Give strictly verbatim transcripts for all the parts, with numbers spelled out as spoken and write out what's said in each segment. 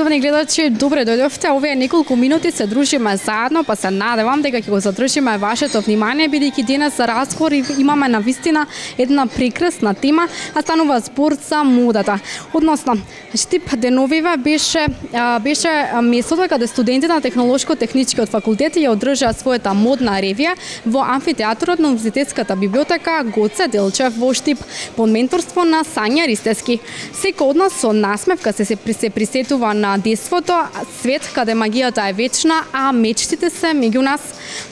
Почитувани гледачи, добре дојдовте. Овие неколку минути се дружиме заедно, па се надевам дека ќе го задржиме вашето внимание, бидејќи денес за разговор имаме навистина една прекрасна тема, а станува збор за модата. Односно, Штип деновиве беше беше местото каде студентите на Технолошко-техничкиот факултет ја одржаа својата модна ревија во амфитеатарот на Универзитетската библиотека Гоце Делчев во Штип под менторство на Сања Ристевски. Секој од нас со насмевка се се присетува на детството, свет каде магијата е вечна, а мечтите се меѓу нас.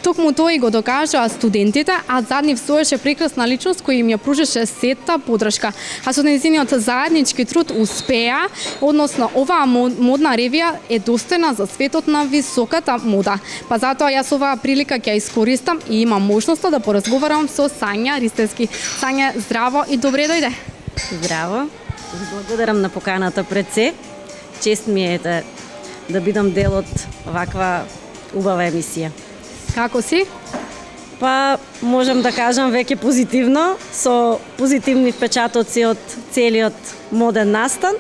Токму тоа и го докажаа студентите, а зад нив стоеше прекрасна личност која им ја пружеше сета подршка. А со нејзиниот заеднички труд успеа, односно оваа модна ревија е достојна за светот на високата мода. Па затоа јас оваа прилика ќе искористам и имам можноста да поразговарам со Сања Ристевски. Сања, здраво и добре дојде. Здраво. Благодарам на поканата пред се. Чест ми е да, да бидам дел од ваква убава емисија. Како си? Па, можам да кажам веќе позитивно, со позитивни впечатоци од целиот моден настан.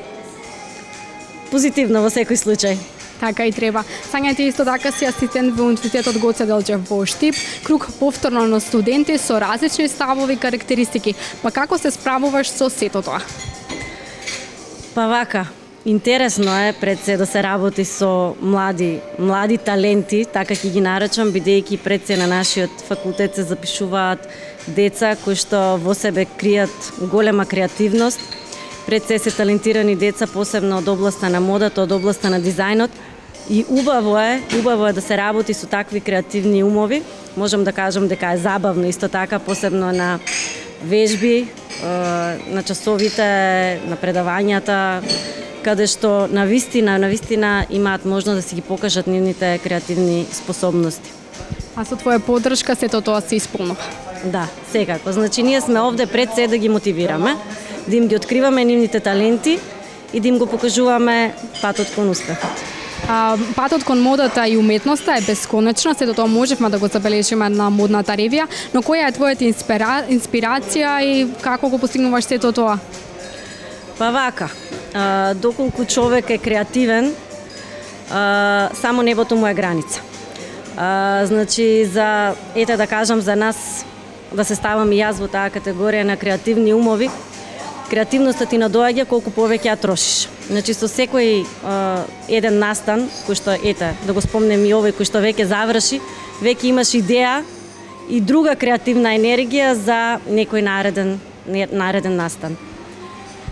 Позитивно во секој случај. Така и треба. Сања, ти исто така си асистент во Универзитетот Гоце Делчев во Штип, круг повторно на студенти со различни ставови и карактеристики. Па како се справуваш со сето тоа? Па вака, интересно е пред се да се работи со млади, млади таленти, така ќе ги наречам, бидејќи пред се на нашиот факултет се запишуваат деца кои што во себе кријат голема креативност. Пред се се талентирани деца, посебно од областа на модата, од областа на дизајнот. И убаво е, убаво е да се работи со такви креативни умови. Можам да кажам дека е забавно исто така, посебно на вежби, на часовите, на предавањата, каде што на вистина, на вистина имаат можност да си ги покажат нивните креативни способности. А со твоја поддршка сето тоа се исполнува? Да, секако. Значи ние сме овде пред се да ги мотивираме, да им ги откриваме нивните таленти и да им го покажуваме патот кон успехот. А, патот кон модата и уметноста е бесконечна, сето тоа можевме да го забележиме на модната ревија, но која е твојата инспира... инспирација и како го постигнуваш сето тоа? Па вака, а, доколку човек е креативен, а, само небото му е граница. А, значи, за, ете да кажам, за нас, да се ставам и јас во таа категорија на креативни умови, креативноста ти надоаѓа колку повеќе ја трошиш. Значи со секој а, еден настан, кој што ете, да го спомнем и овој кој што веќе заврши, веќе имаш идеја и друга креативна енергија за некој нареден нареден настан.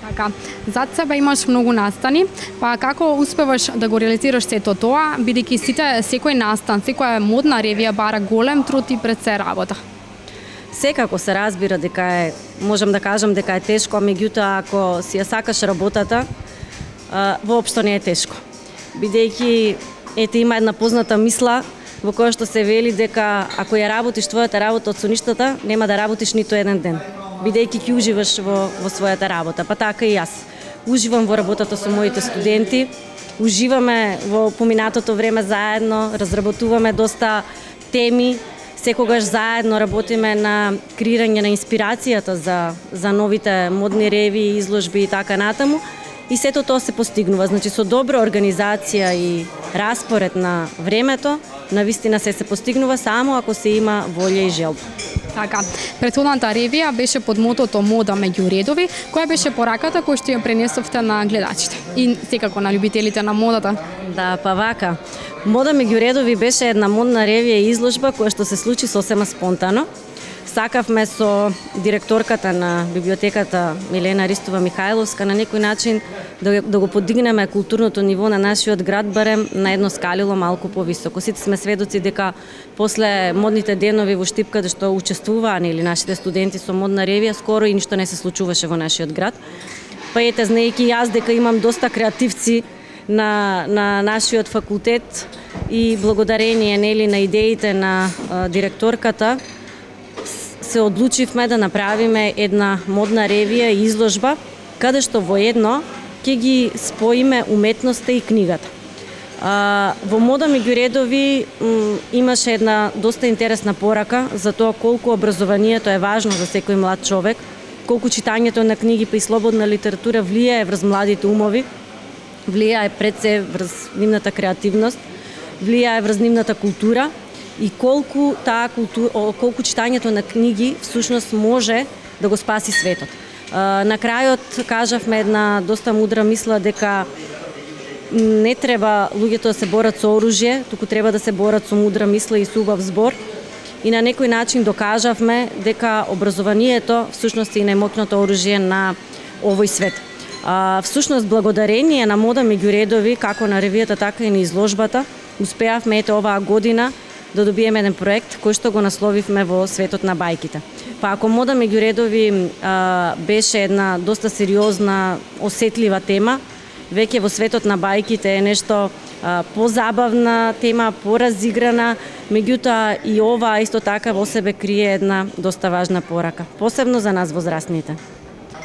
Така, зад себе имаш многу настани, па како успеваш да го реализираш сето тоа, бидејќи сите секој настан, секоја модна ревија бара голем труд и пред се работа? Секако се разбира дека е, можам да кажам дека е тешко, а меѓутоа ако си ја сакаш работата, а, воопшто не е тешко. Бидејќи ете има една позната мисла во која што се вели дека ако ја работиш твојата работа од соништата, нема да работиш ниту еден ден. Бидејќи ќе уживаш во, во својата работа, па така и јас. Уживам во работата со моите студенти, уживаме во поминатото време заедно, разработуваме доста теми, секогаш заедно работиме на креирање на инспирацијата за, за новите модни ревии, изложби и така натаму. И сето тоа се постигнува. Значи, со добра организација и распоред на времето, навистина се се постигнува само ако се има волја и желба. Така, претходната ревија беше под мотото мода меѓу редови, која беше пораката која што ја пренесовте на гледачите и секако на љубителите на модата. Да, па вака. Мода меѓу редови беше една модна ревија и изложба која што се случи сосема спонтано. Сакавме со директорката на библиотеката Милена Ристова Михајловска на некој начин да, да го подигнеме културното ниво на нашиот град барем на едно скалило малку повисоко. Сите сме сведоци дека после модните денови во Штип каде што учествуваа или нашите студенти со модна ревија, скоро и ништо не се случуваше во нашиот град. Па ете, знаејќи јас дека имам доста креативци на, на нашиот факултет и благодарение нели на идеите на а, директорката, се одлучивме да направиме една модна ревија и изложба, каде што во едно ќе ги споиме уметноста и книгата. А, во мода меѓу редови м, имаше една доста интересна порака за тоа колку образованието е важно за секој млад човек, колку читањето на книги па и слободна литература влијае врз младите умови влијае пред се врз нивната креативност, влијае врз нивната култура и колку таа култура, колку читањето на книги всушност може да го спаси светот. На крајот кажавме една доста мудра мисла дека не треба луѓето да се борат со оружје, туку треба да се борат со мудра мисла и со убав збор. И на некој начин докажавме дека образованието всушност е најмоќното оружје на овој свет. А, всушност благодарение на Мода меѓу редови, како на ревијата, така и на изложбата, успеавме ете оваа година да добиеме еден проект кој што го насловивме во светот на бајките. Па ако Мода меѓу редови а, беше една доста сериозна, осетлива тема, веќе во светот на бајките е нешто а, позабавна тема, поразиграна, меѓутоа и ова исто така во себе крие една доста важна порака, посебно за нас возрастните.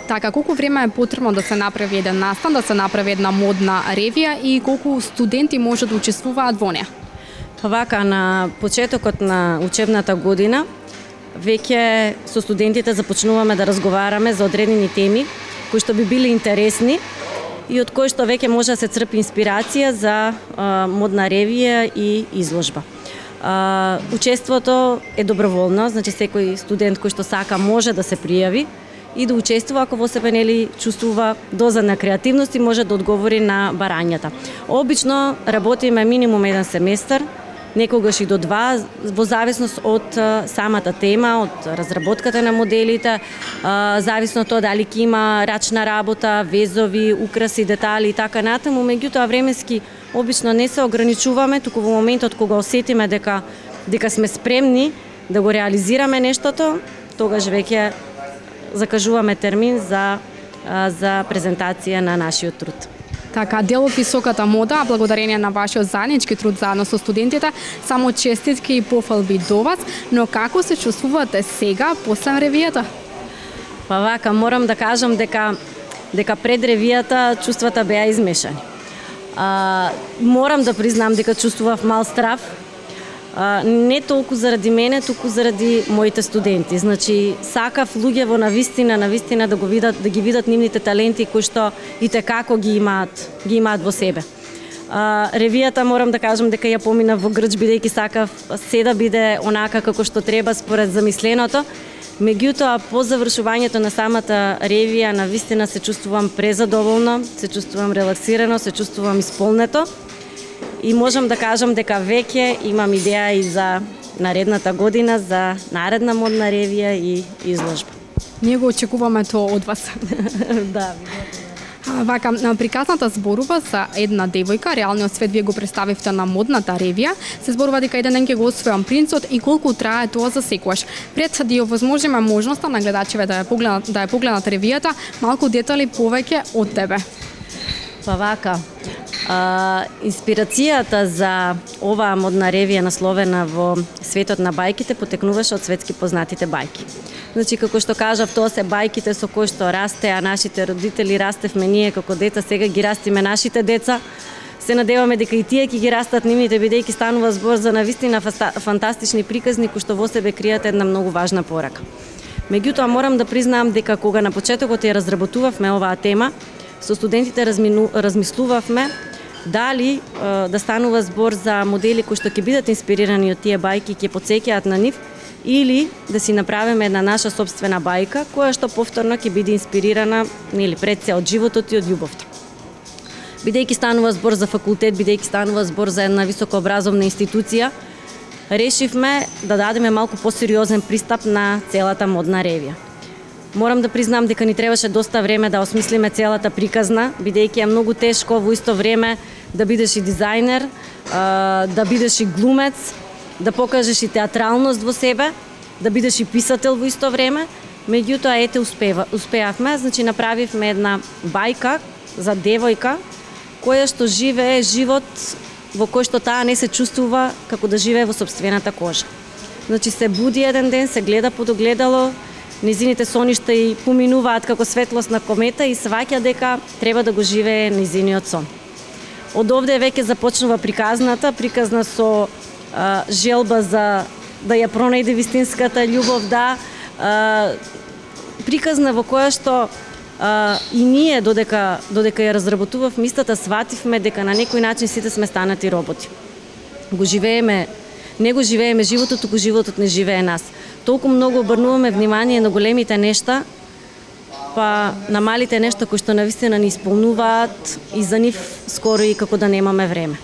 Така, колку време е потребно да се направи еден настан, да се направи една модна ревија и колку студенти може да учествуваат во неа? Вака, на почетокот на учебната година, веќе со студентите започнуваме да разговараме за одредени теми кои што би били интересни и од кои што веќе може да се црпи инспирација за а, модна ревија и изложба. А, учеството е доброволно, значи секој студент кој што сака може да се пријави и да учествува ако во себе нели чувствува доза на креативност и може да одговори на барањата. Обично работиме минимум еден семестар, некогаш и до два, во зависност од самата тема, од разработката на моделите, зависно од тоа дали ќе има рачна работа, везови, украси, детали и така натаму, меѓутоа временски обично не се ограничуваме, туку во моментот кога осетиме дека дека сме спремни да го реализираме нештото, тогаш веќе закажуваме термин за за презентација на нашиот труд. Така, дел од високата мода, благодарение на вашиот заеднички труд заедно со студентите, само честитки и пофалби до вас, но како се чувствувате сега после ревијата? Па вака, морам да кажам дека дека пред ревијата чувствата беа измешани. А, морам да признам дека чувствував мал страв, а, не толку заради мене, туку заради моите студенти. Значи, сакав луѓе во навистина, навистина да го видат, да ги видат нивните таленти кои што и како ги имаат, ги имаат во себе. А, ревијата морам да кажам дека ја помина во грч, бидејќи сакав се да биде онака како што треба според замисленото. Меѓутоа, по завршувањето на самата ревија, навистина се чувствувам презадоволно, се чувствувам релаксирано, се чувствувам исполнето и можам да кажам дека веќе имам идеја и за наредната година, за наредна модна ревија и изложба. Ние го очекуваме тоа од вас. Да, Вака, приказната зборува за една девојка, реалниот свет вие го представивте на модната ревија, се зборува дека еден ден ќе го освојам принцот и колку трае тоа за секогаш. Пред да ја возможиме можноста на гледачите да ја погледнат, да ја погледнат ревијата, малку детали повеќе од тебе. Па вака, а, инспирацијата за оваа модна ревија насловена во светот на бајките потекнуваше од светски познатите бајки. Значи, како што кажав, тоа се бајките со кои што расте, а нашите родители растевме ние како деца, сега ги растиме нашите деца. Се надеваме дека и тие ќе ги растат нивните, бидејќи станува збор за навистина фантастични приказни кои што во себе кријат една многу важна порака. Меѓутоа, морам да признаам дека кога на почетокот ја разработувавме оваа тема, со студентите размину, размислувавме дали е, да станува збор за модели кои што ќе бидат инспирирани од тие бајки, ќе потсеќаат на нив, или да си направиме една наша собствена бајка, која што повторно ќе биде инспирирана нели пред се од животот и од љубовта. Бидејќи станува збор за факултет, бидејќи станува збор за една високообразовна институција, решивме да дадеме малку посериозен пристап на целата модна ревија. Морам да признам дека ни требаше доста време да осмислиме целата приказна, бидејќи е многу тешко во исто време да бидеш и дизајнер, да бидеш и глумец, да покажеш и театралност во себе, да бидеш и писател во исто време. Меѓутоа, ете, успева, успеавме, значи направивме една бајка за девојка која што живее живот во кој што таа не се чувствува како да живее во сопствената кожа. Значи се буди еден ден, се гледа под огледало, низините соништа и поминуваат како светлост на комета и сваќа дека треба да го живее низиниот сон. Од овде веќе започнува приказната, приказна со а, желба за да ја пронајде вистинската љубов, да, а, приказна во која што А, и ние додека додека ја разработувавме истата, свативме дека на некој начин сите сме станати роботи. Го живееме, не го живееме животот, туку животот не живее нас. Толку многу обрнуваме внимание на големите нешта, па на малите нешта кои што навистина ни исполнуваат и за нив скоро и како да немаме време.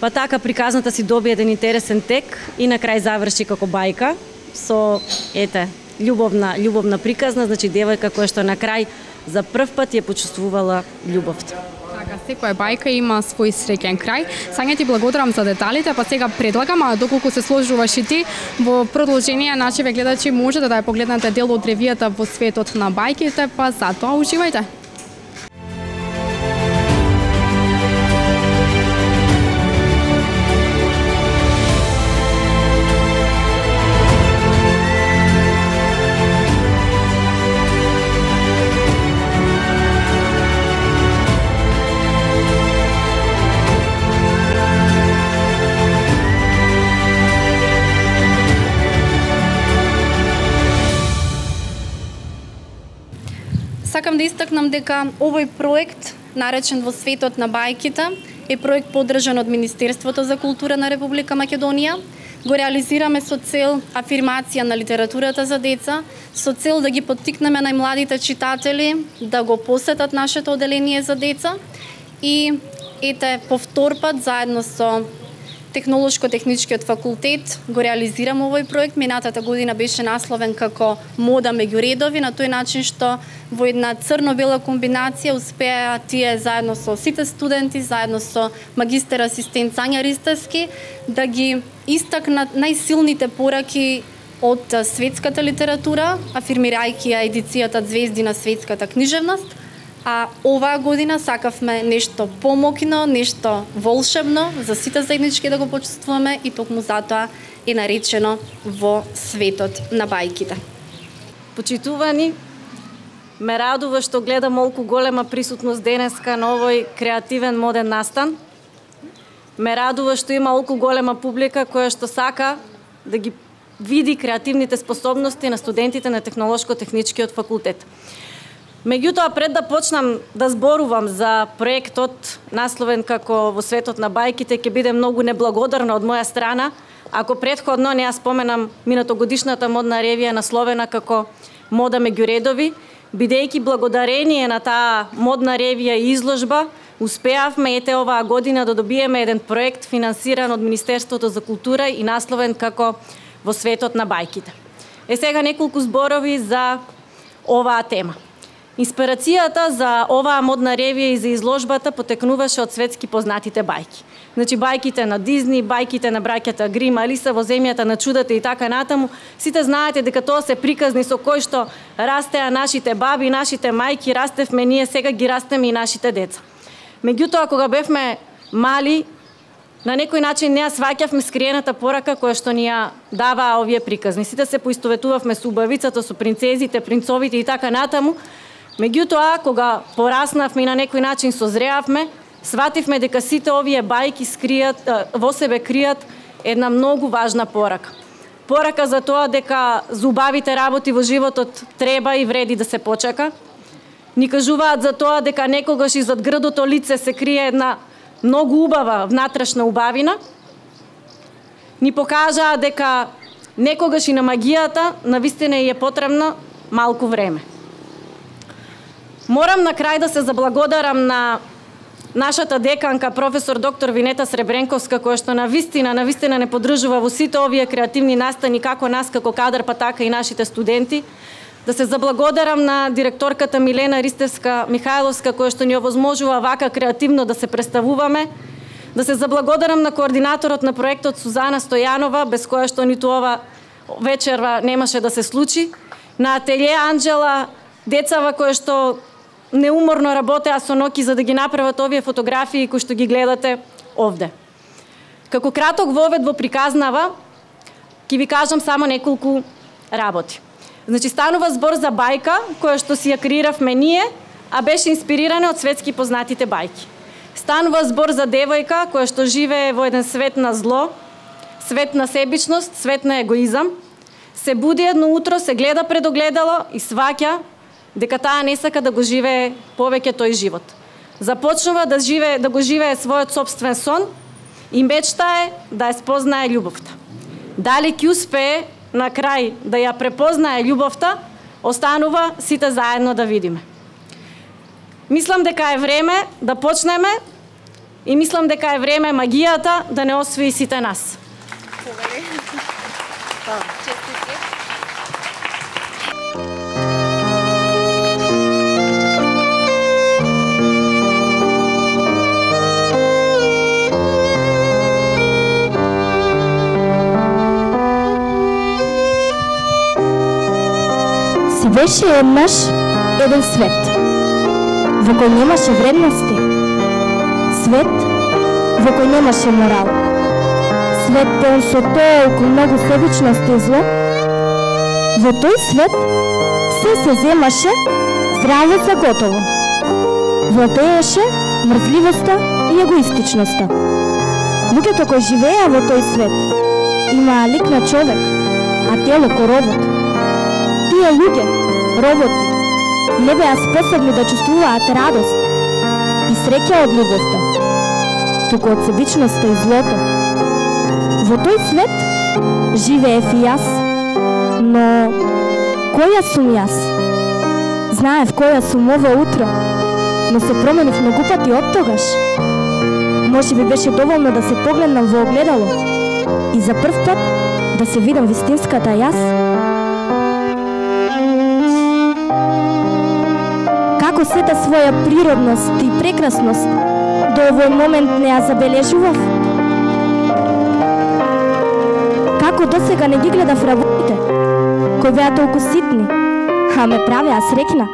Па така приказната си доби еден интересен тек и на крај заврши како бајка со ете љубовна љубовна приказна, значи девојка која што на крај за прв пат ја почувствувала љубовта. Така, секоја бајка има свој среќен крај. Сања ти благодарам за деталите, па сега предлагам, а доколку се сложуваш и ти, во продолжение нашиве гледачи можете да ја погледнете дел од ревијата Во светот на бајките, па затоа уживајте. Сакам да истакнам дека овој проект, наречен Во светот на бајките, е проект поддржан од Министерството за култура на Република Македонија. Го реализираме со цел афирмација на литературата за деца, со цел да ги поттикнеме најмладите читатели да го посетат нашето оделение за деца и ете повторпат заедно со Технолошко-техничкиот факултет го реализирам овој проект. Минатата година беше насловен како Мода меѓу редови, на тој начин што во една црно-бела комбинација успеа тие заедно со сите студенти, заедно со магистер асистент Сања Ристевски да ги истакнат најсилните пораки од светската литература, афирмирајќи ја едицијата Звезди на светската книжевност. А оваа година сакавме нешто помокно, нешто волшебно за сите заеднички да го почувствуваме и токму затоа е наречено Во светот на бајките. Почитувани, ме радува што гледам молку голема присутност денеска на овој креативен моден настан. Ме радува што има молку голема публика која што сака да ги види креативните способности на студентите на Технолошко-техничкиот факултет. Меѓутоа, пред да почнам да зборувам за проектот насловен како Во светот на бајките, ќе биде многу неблагодарна од моја страна ако претходно не ја споменам минатогодишната модна ревија насловена како Мода меѓу редови, бидејќи благодарение на таа модна ревија и изложба успеавме ете оваа година да добиеме еден проект финансиран од Министерството за култура и насловен како Во светот на бајките. Е сега неколку зборови за оваа тема. Инспирацијата за оваа модна ревија и за изложбата потекнуваше од светски познатите бајки. Значи бајките на Дизни, бајките на браќата Грим, Алиса во земјата на чудата и така натаму. Сите знаете дека тоа се приказни со кои што растеа нашите баби, нашите мајки, растевме ние, сега ги растеме и нашите деца. Меѓутоа, кога бевме мали, на некој начин не ја сваќавме скриената порака која што ни ја даваа овие приказни. Сите се поистоветувавме со убавицата, со принцезите, принцовите и така натаму. Меѓутоа, кога пораснавме и на некој начин созреавме, свативме дека сите овие бајки скријат, во себе кријат една многу важна порака. Порака за тоа дека за убавите работи во животот треба и вреди да се почека. Ни кажуваат за тоа дека некогаш и зад грдото лице се крие една многу убава внатрешна убавина. Ни покажаа дека некогаш и на магијата навистина е потребно малку време. Морам на крај да се заблагодарам на нашата деканка, професор доктор Винета Сребренковска, која што на вистина, на вистина не поддржува во сите овие креативни настани, како нас, како кадар, па така и нашите студенти. Да се заблагодарам на директорката Милена Ристевска Михајловска, која што ни овозможува вака креативно да се представуваме. Да се заблагодарам на координаторот на проектот Сузана Стојанова, без која што ниту ова вечерва немаше да се случи. На ателје Анџела, децава кои што неуморно работеа со ноќи за да ги направат овие фотографии кои што ги гледате овде. Како краток вовед во приказнава, ќе ви кажам само неколку работи. Значи, станува збор за бајка, која што си ја креиравме ние, а беше инспирирана од светски познатите бајки. Станува збор за девојка, која што живее во еден свет на зло, свет на себичност, свет на егоизам. Се буди едно утро, се гледа пред огледало и сваќа дека таа не сака да го живее повеќе тој живот. Започнува да живее, да го живее својот собствен сон и мечтае да ја спознае љубовта. Дали ќе успее на крај да ја препознае љубовта, останува сите заедно да видиме. Мислам дека е време да почнеме и мислам дека е време магијата да не освои сите нас. Си беше еднаш еден свет, во кој немаше вредности, свет во кој немаше морал, свет пон со толку многу себичност и зло. Во тој свет се се земаше здраво за готово. Владееше мрзливоста и егоистичноста. Луѓето кои живееа во тој свет имаа лик на човек, а тело ко робот. Тие луѓе, роботи, не беа способни да чувствуваат радост и среќа од љубовта, туку од себичноста и злото. Во тој свет живеев и јас, но која сум јас? Знаев која сум ова утро, но се променив многу пати од тогаш. Може би беше доволно да се погледнам во огледало и за прв пат да се видам вистинската јас. Како сета своја природност и прекрасност до овој момент не ја забележував? Како досега не ги гледав работите, кои беа толку ситни, а ме правеа среќна?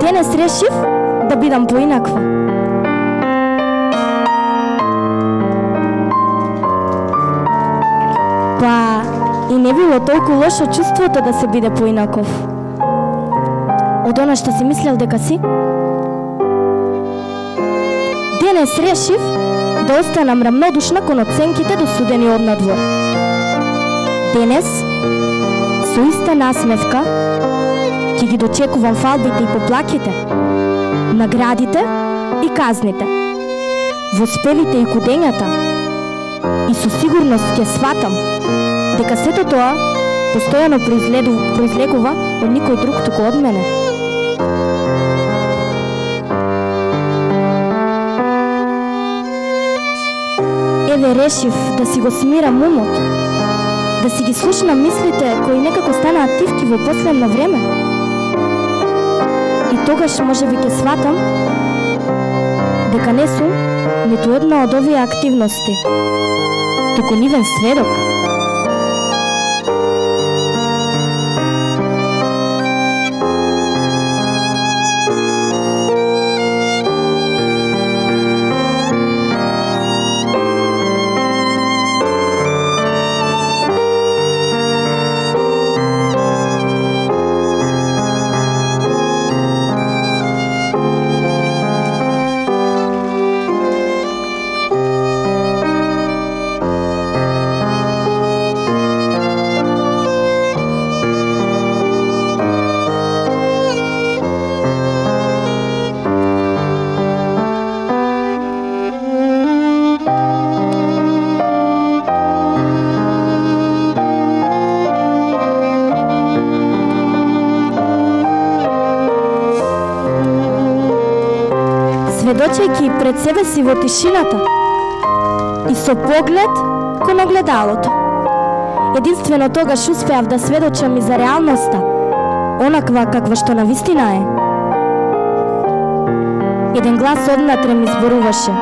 Денес решив да бидам поинаква. Па и не било толку лошо чувството да се биде поинаков. Од она што си мислел дека си. Денес решив да останам рамнодушна кон оценките досудени од надвор. Денес, со иста насмевка, ќе ги дочекувам фалбите и поплаките, наградите и казните, воспевите и кудењата, и со сигурност ќе сватам дека сето тоа постојано произлегува од никој друг туку од мене. Еве решив да си го смирам умот, да си ги слушнам мислите кои некако станаат тивки во последно време. И тогаш може би ќе сватам дека не сум ниту една од овие активности, туку нивен сведок. Сведочејќи пред себе си во тишината и со поглед кон огледалото. Единствено тогаш успеав да сведочам и за реалноста, онаква каква што навистина е. Еден глас однатре ми зборуваше: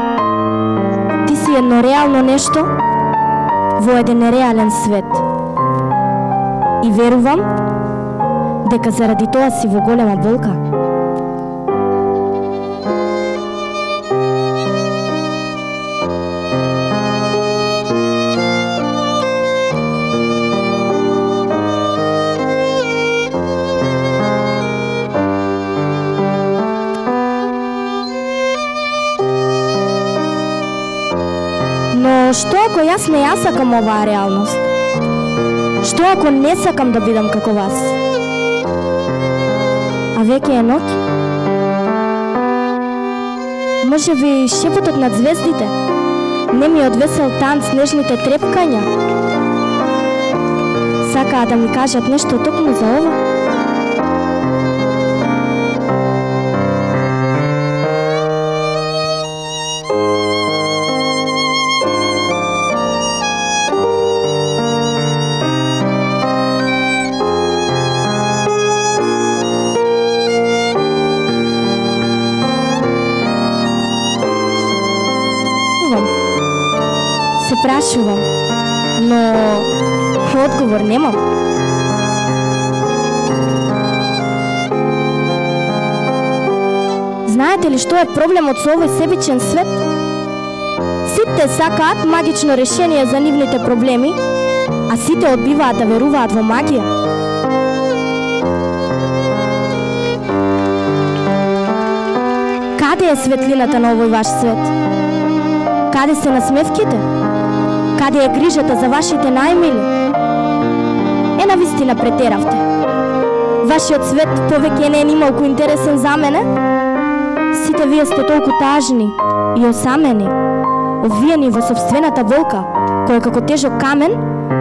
ти си едно реално нешто во еден нереален свет. И верувам дека заради тоа си во голема болка. Но што ако јас не ја сакам оваа реалност? Што ако не сакам да бидам како вас? А веќе е ноќ? Може би шепотот над звездите не ми одвесел танц нежните трепкања? Сакаа да ми кажат нешто токму за ова? Се прашувам, но одговор немам. Знаете ли што е проблемот со овој себичен свет? Сите сакаат магично решение за нивните проблеми, а сите одбиваат да веруваат во магија. Каде е светлината на овој ваш свет? Каде се насмевките? Каде е грижата за вашите најмили? Е, навистина претеравте. Вашиот свет повеќе не е нималку интересен за мене? Сите вие сте толку тажни и осамени, обвиени во собствената болка, која како тежок камен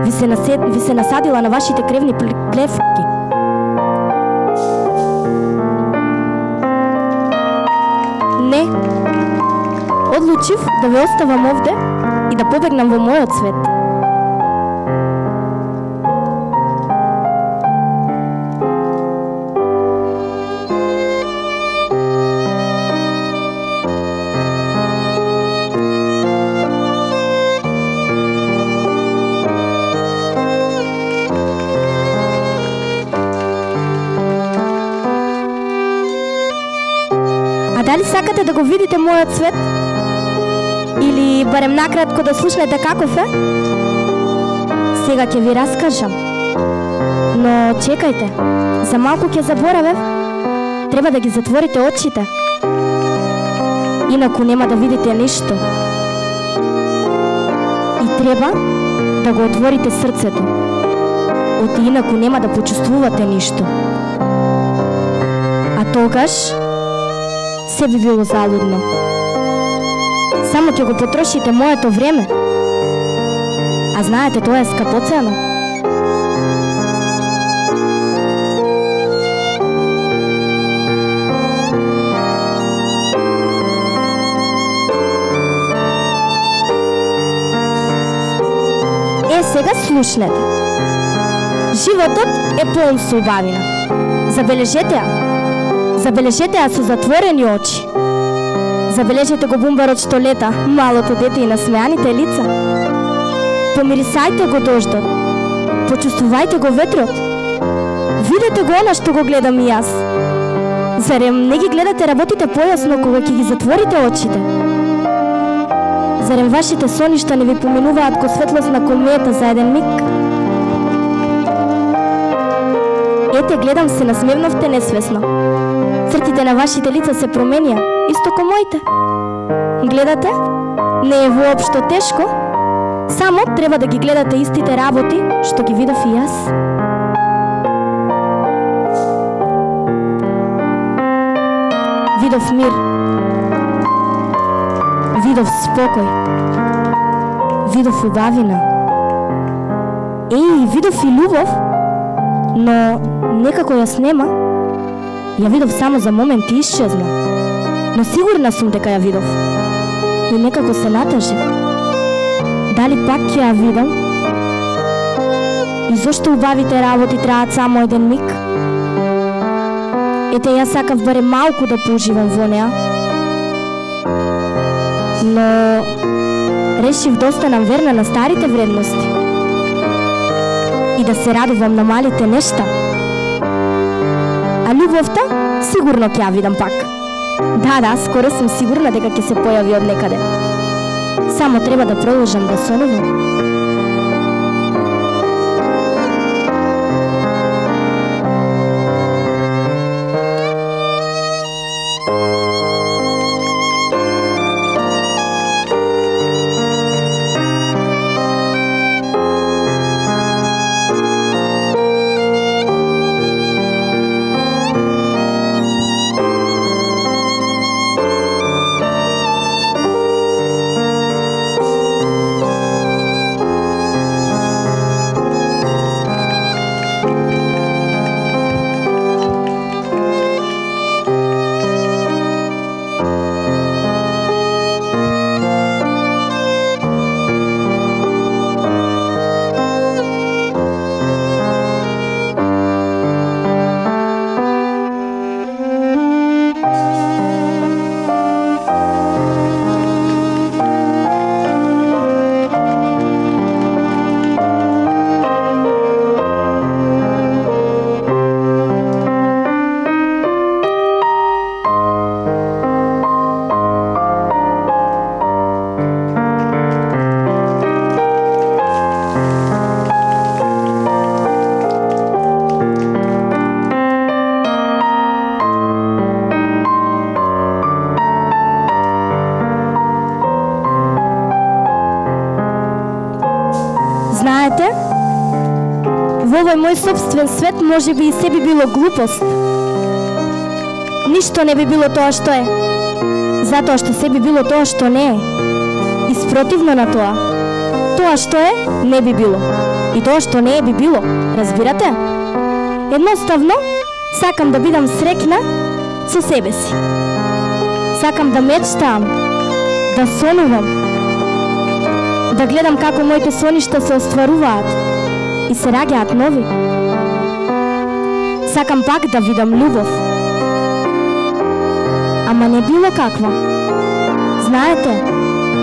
ви се, насед... ви се насадила на вашите кревни клевки. Не. Одлучив да ве оставам овде и да побегнам во мојот свет. А дали сакате да го видите мојот свет? Или барем накратко да слушнете каков е? Сега ќе ви раскажам. Но чекајте, за малку ќе заборавев. Треба да ги затворите очите. Инаку нема да видите ништо. И треба да го отворите срцето. Оти инаку нема да почувствувате ништо. А тогаш се би било залудно. Само ќе го потрошите моето време. А знаете, тоа е скапоцено. Е, сега слушнете. Животот е полн со убавина. Забележете ја. Забележете ја со затворени очи. Забележете го бумбарот што лета, малото дете и насмеаните лица. Помирисајте го дождот. Почувствувајте го ветрот. Видете го она што го гледам и јас. Зарем не ги гледате работите појасно кога ќе ги затворите очите? Зарем вашите соништа не ви поминуваат ко светлосна комета за еден миг? Ете, гледам се насмевновте несвесно. Цртите на вашите лица се променија, исто ко моите. Гледате? Не е воопшто тешко. Само треба да ги гледате истите работи што ги видов и јас. Видов мир. Видов спокој. Видов убавина. Еј, видов и љубов, но некако јас нема. Ја видов само за момент и исчезна. Но сигурна сум дека ја видов. И некако се натажив. Дали пак ќе ја видам? И зошто убавите работи траат само еден миг? Ете, јас сакав барем малку да поуживам во неа. Но решив да останам верна на старите вредности. И да се радувам на малите нешта. А љубовта сигурно ќе ја видам пак. Да, да, скоро сум сигурна дека ќе се појави од некаде. Само треба да продолжам да сонувам. Знаете, во овој мој собствен свет може би и се би било глупост. Ништо не би било тоа што е, затоа што се би било тоа што не е. И спротивно на тоа, тоа што е, не би било. И тоа што не е би било, разбирате? Едноставно, сакам да бидам среќна со себе си. Сакам да мечтаам, да сонувам, да гледам како моите соништа се остваруваат и се раѓаат нови. Сакам пак да видам љубов. Ама не било каква. Знаете,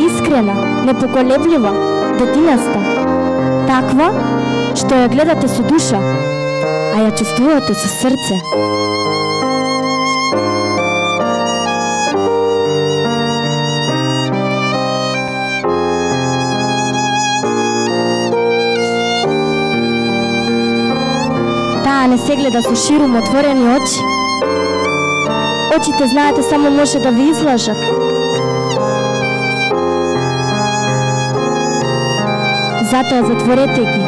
искрена, непоколеблива, детинаста. Таква што ја гледате со душа, а ја чувствувате со срце. Таа не се гледа со ширум отворени очи. Очите, знаете, само може да ви излажат. Затоа затворете ги.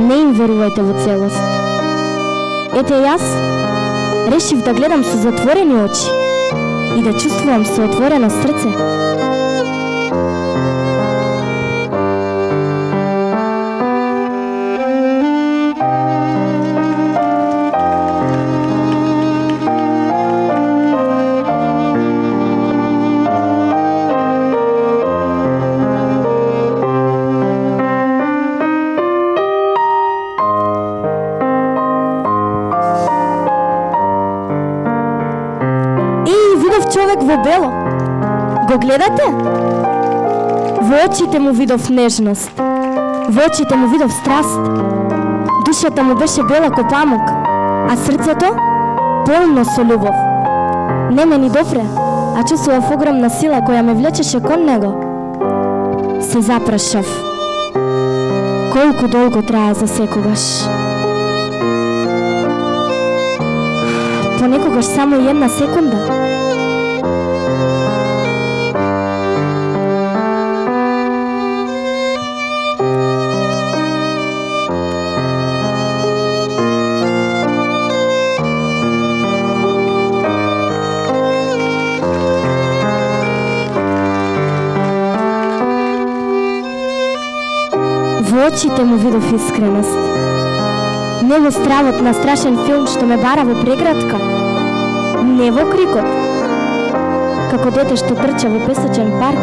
Не им верувајте во целост. Ете јас решив да гледам со затворени очи и да чувствувам со отворено срце. Човек во бело. Го гледате? Во очите му видов нежност. Во очите му видов страст. Душата му беше бела ко памук, а срцето полно со љубов. Не ме ни допре, а чувствував огромна сила која ме влечеше кон него. Се запрашав. Колку долго трае за секогаш? Понекогаш само една секунда. Во очите му видов искреност. Не во стравот на страшен филм што ме бара во преградка. Не во крикот, како дете што трча во песочен парк.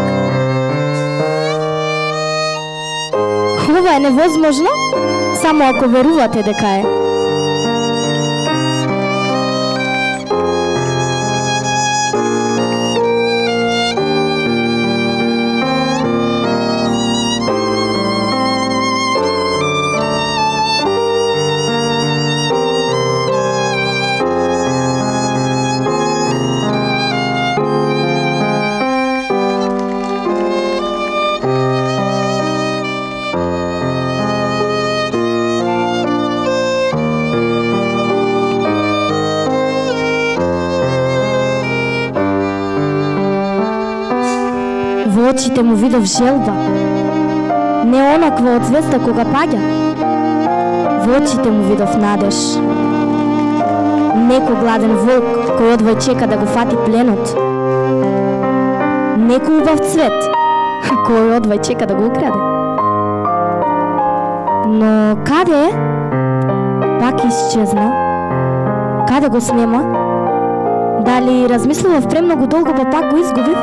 Ова е невозможно, само ако верувате дека е. Во очите му видов желба, не онаква од звезда кога паѓа. Во очите му видов надеж. Неко гладен волк кој одвој чека да го фати пленот. Неко убав цвет кој одвој чека да го украде. Но каде е? Пак исчезна. Каде го снема? Дали размислував премногу долго па пак го изгубив?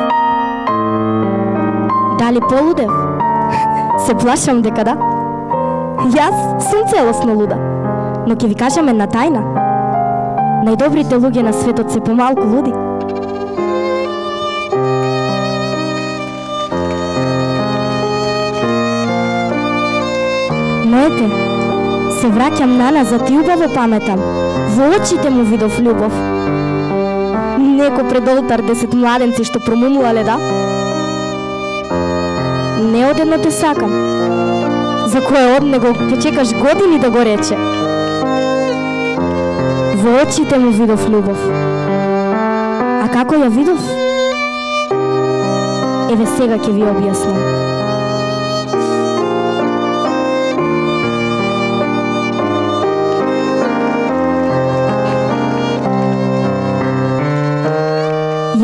Дали полудев? Се плашам дека да. Јас сум целосно луда, но ќе ви кажам една тајна. Најдобрите луѓе на светот се помалку луди. Но ете, се враќам наназад и убаво паметам. Во очите му видов љубов. Неко пред олтар десет младенци што промумувале, да? Не одедно те сакам, за кое од него ќе чекаш години да го рече. Во очите му видов љубов. А како ја видов? Еве сега ќе ви објаснам.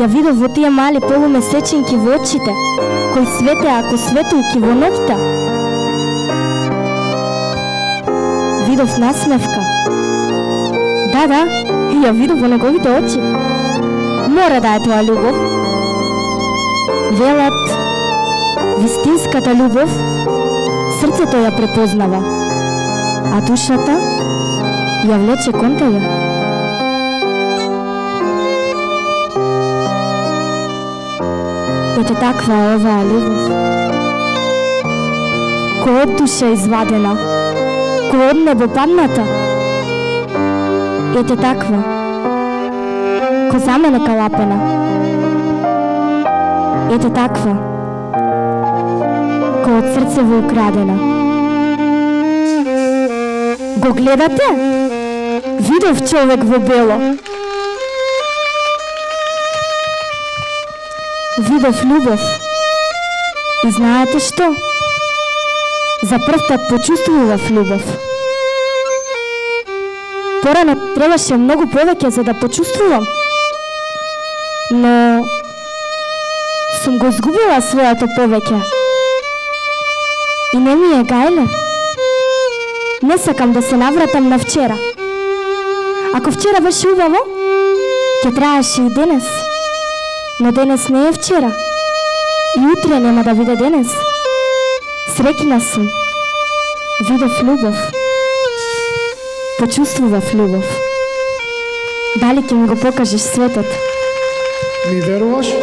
Ја видов во тие мали полумесечинки во очите, кои светеа ако светулки во ноќта. Видов насмевка. Да, да, ја видов во неговите очи. Мора да е тоа љубов. Велат, вистинската љубов, срцето ја препознава, а душата ја влече кон тебе. Ете таква е оваа љубов, кој од душа извадена, кој од небо падната. Ете таква, кој за мене калапена. Ете таква, кој од срцево украдена. Го гледате? Видов човек во бело. Видов љубов. И знаете што? За прв пат почувствував љубов. Порано требаше многу повеќе за да почувствувам. Но сум го изгубила своето повеќе. И не ми е гајле. Не сакам да се навратам на вчера. Ако вчера беше убаво, ќе траеше и денес. Но денес не е вчера. И утре нема да биде денес. Среќна сум. Видов љубов. Почувствував љубов. Дали ќе ми го покажеш светот? Ми веруваш?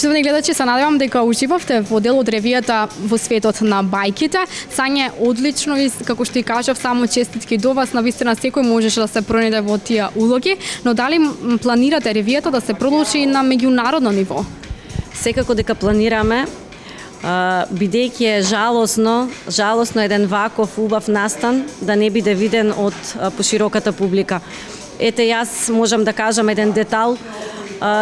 Почитувани гледачи, се надевам дека уживавте во дел од ревијата во светот на бајките. Сање, одлично и како што и кажав, само честитки до вас, навистина секој можеше да се пронајде во тие улоги, но дали планирате ревијата да се продолжи и на меѓународно ниво? Секако дека планираме, бидејќи е жалосно, жалосно еден ваков убав настан да не биде виден од пошироката публика. Ете, јас можам да кажам еден детал,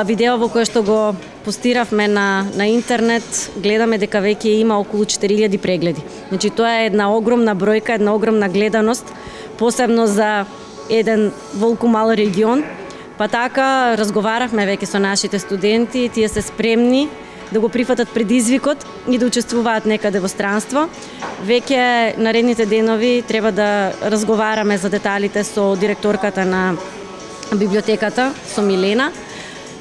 видео во кое што го постиравме на, на интернет, гледаме дека веќе има околу четири илјади прегледи. Значи, тоа е една огромна бројка, една огромна гледаност, посебно за еден волку мал регион. Па така, разговаравме веќе со нашите студенти, тие се спремни да го прифатат предизвикот и да учествуваат некаде во странство. Веќе наредните денови треба да разговараме за деталите со директорката на библиотеката, со Милена,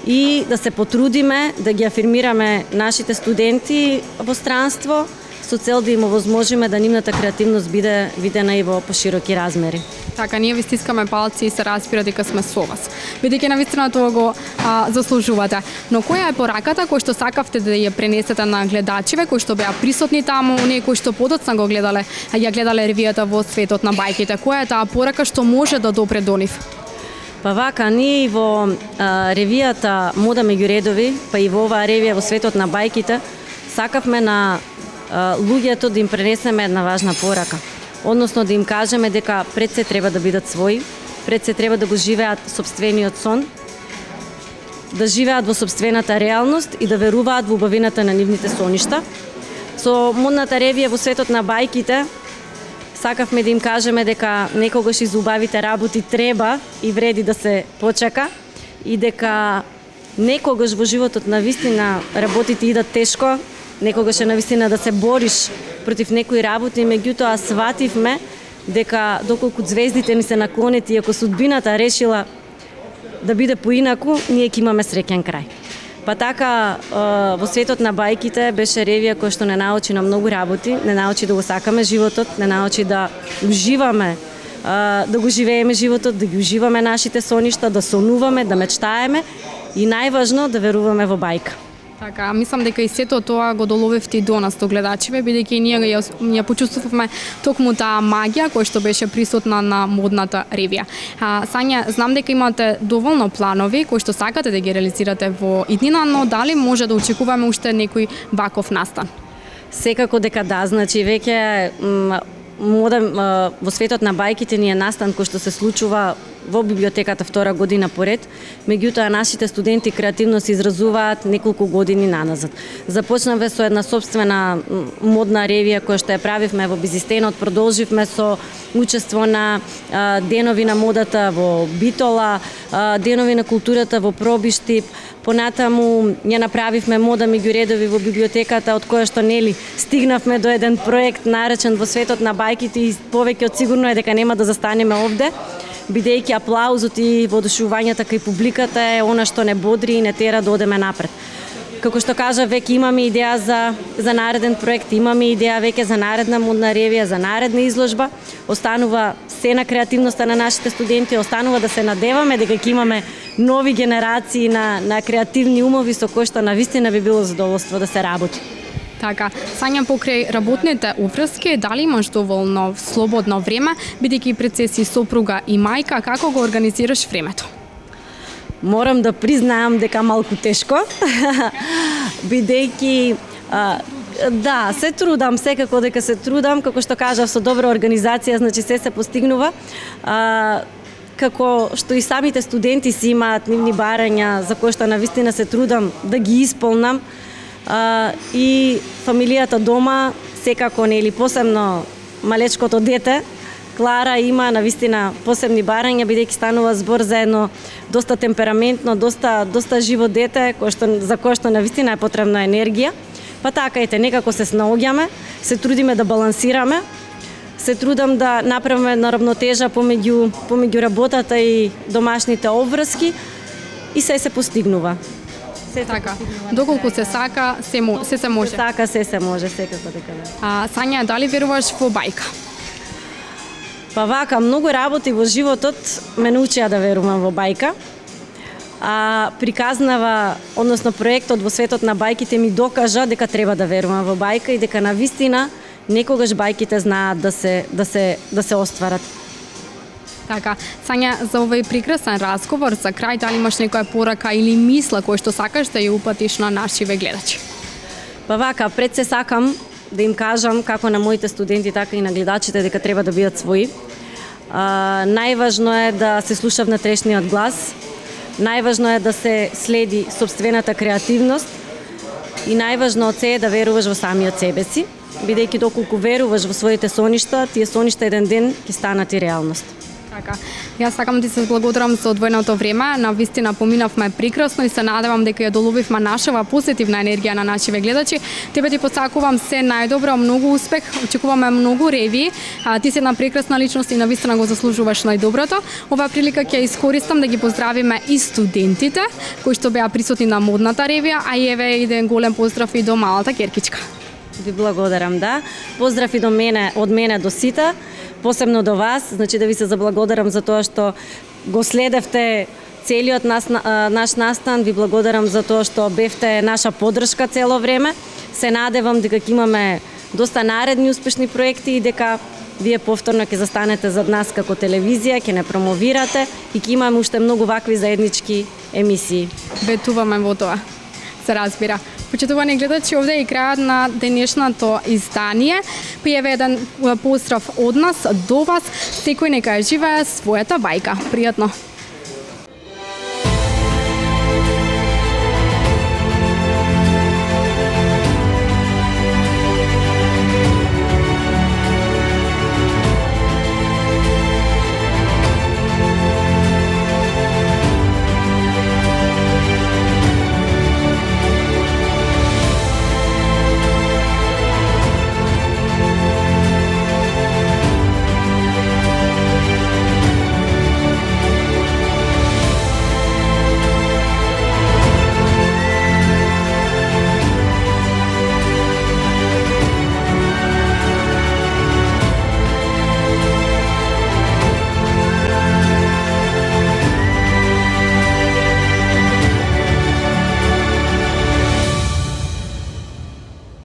и да се потрудиме да ги афирмираме нашите студенти во странство со цел да им овозможиме да нивната креативност биде видена и во пошироки размери. Така, ние ви стискаме палци и се разбира дека сме со вас. Бидејќи навистина тоа го а, заслужувате. Но која е пораката која што сакавте да ја пренесете на гледачиве, кои што беа присутни таму, оние кои што подоцна го гледале, а ја гледале ревијата во светот на бајките? Која е таа порака што може да допре до нив? Па вака, ние во а, ревијата Мода меѓу редови, па и во оваа ревија во светот на бајките, сакавме на а, луѓето да им пренесеме една важна порака. Односно да им кажеме дека пред се треба да бидат своји, пред се треба да го живеат сопствениот сон, да живеат во сопствената реалност и да веруваат во убавината на нивните соништа. Со модната ревија во светот на бајките, сакавме да им кажеме дека некогаш и за убавите работи треба и вреди да се почека и дека некогаш во животот на вистина работите идат тешко, некогаш е на вистина да се бориш против некои работи, меѓутоа свативме дека доколку звездите ни се наклонети и ако судбината решила да биде поинаку, ние ќе имаме среќен крај. Па така, во светот на бајките беше ревија која што не научи на многу работи, не научи да го сакаме животот, не научи да уживаме, да го живееме животот, да ги уживаме нашите соништа, да сонуваме, да мечтаеме и најважно да веруваме во бајка. Така, мислам дека и сето тоа го доловевте и до нас, до гледачиве, бидејќи ние ја, ја почувствувавме токму таа магија која што беше присутна на модната ревија. А, Сања, знам дека имате доволно планови кои што сакате да ги реализирате во иднина, но дали може да очекуваме уште некој ваков настан? Секако дека да, значи веќе мода во светот на бајките ни е настан кој што се случува во библиотеката втора година поред, меѓутоа нашите студенти креативно се изразуваат неколку години наназад. Започнавме со една собствена модна ревија која што ја правивме во Бизистенот, продолживме со учество на а, денови на модата во Битола, а, денови на културата во Пробиштип, понатаму ја направивме Мода меѓу редови во библиотеката, од која што нели стигнавме до еден проект наречен во светот на бајките и повеќе од сигурно е дека нема да застанеме овде, бидејќи аплаузот и воодушевувањето кај публиката е она што не бодри и не тера да одеме напред. Како што кажа, веќе имаме идеја за, за нареден проект, имаме идеја веќе за наредна модна ревија, за наредна изложба. Останува се на креативноста на нашите студенти, останува да се надеваме дека ќе имаме нови генерации на, на креативни умови со кои што навистина би било задоволство да се работи. Така, Сања, покрај работните уврски, дали имаш доволно слободно време, бидејќи пред се си сопруга и мајка, како го организираш времето? Морам да признаам дека малку тешко, бидејќи а, да, се трудам, секако дека се трудам, како што кажав, со добра организација, значи се се постигнува. А, како што и самите студенти си имаат нивни барања за кои што навистина се трудам да ги исполнам. Uh, и фамилијата дома, секако нели посебно малечкото дете, Клара има навистина посебни барања, бидејќи станува збор за едно доста темпераментно, доста доста живо дете, кој што за кое што навистина е потребна енергија. Па така ете, некако се снаоѓаме, се трудиме да балансираме, се трудам да направиме една равнотежа помеѓу помеѓу работата и домашните обврски и се се постигнува. Се така, доколку се сака, се, мо, се се може. Се сака, се се може, секако дека да. А, Сања, дали веруваш во бајка? Па вака, многу работи во животот ме научија да верувам во бајка. а приказнава, односно проектот во светот на бајките ми докажа дека треба да верувам во бајка и дека навистина некогаш бајките знаат да се да се да се остварат. Така, Сања, за овој прекрасен разговор, за крај, дали имаш некоја порака или мисла која што сакаш да ја упатиш на нашиве гледачи? Па вака, пред се сакам да им кажам, како на моите студенти, така и на гледачите, дека треба да бидат своји. А, најважно е да се слуша внатрешниот глас, најважно е да се следи сопствената креативност и најважно од се е да веруваш во самиот себе си, бидејќи доколку веруваш во своите соништа, тие соништа еден ден ќе станат и реалност. Така. Јас сакам да ти се благодарам за одвоеното време. Навистина поминавме прекрасно и се надевам дека ја доловивме нашава позитивна енергија на нашиве гледачи. Тебе ти посакувам се најдобро, многу успех, очекуваме многу реви. А, ти си една прекрасна личност и навистина го заслужуваш најдоброто. Оваа прилика ќе искористам да ги поздравиме и студентите кои што беа присутни на модната ревија, а и еве еден голем поздрав и до малата Керкичка. Ви благодарам, да. Поздрав и до мене, од мене до сите. Посебно до вас, значи да ви се заблагодарам за тоа што го следевте целиот нас, наш настан, ви благодарам за тоа што бевте наша поддршка цело време. Се надевам дека ќе имаме доста наредни успешни проекти и дека вие повторно ќе застанете зад нас како телевизија, ќе не промовирате и ќе имаме уште многу вакви заеднички емисии. Ветуваме во тоа. Се разбира. Почитувани гледачи, овде е крајот на денешното издание. Пријаве еден поздрав од нас до вас. Секој нека ја живее својата бајка. Пријатно.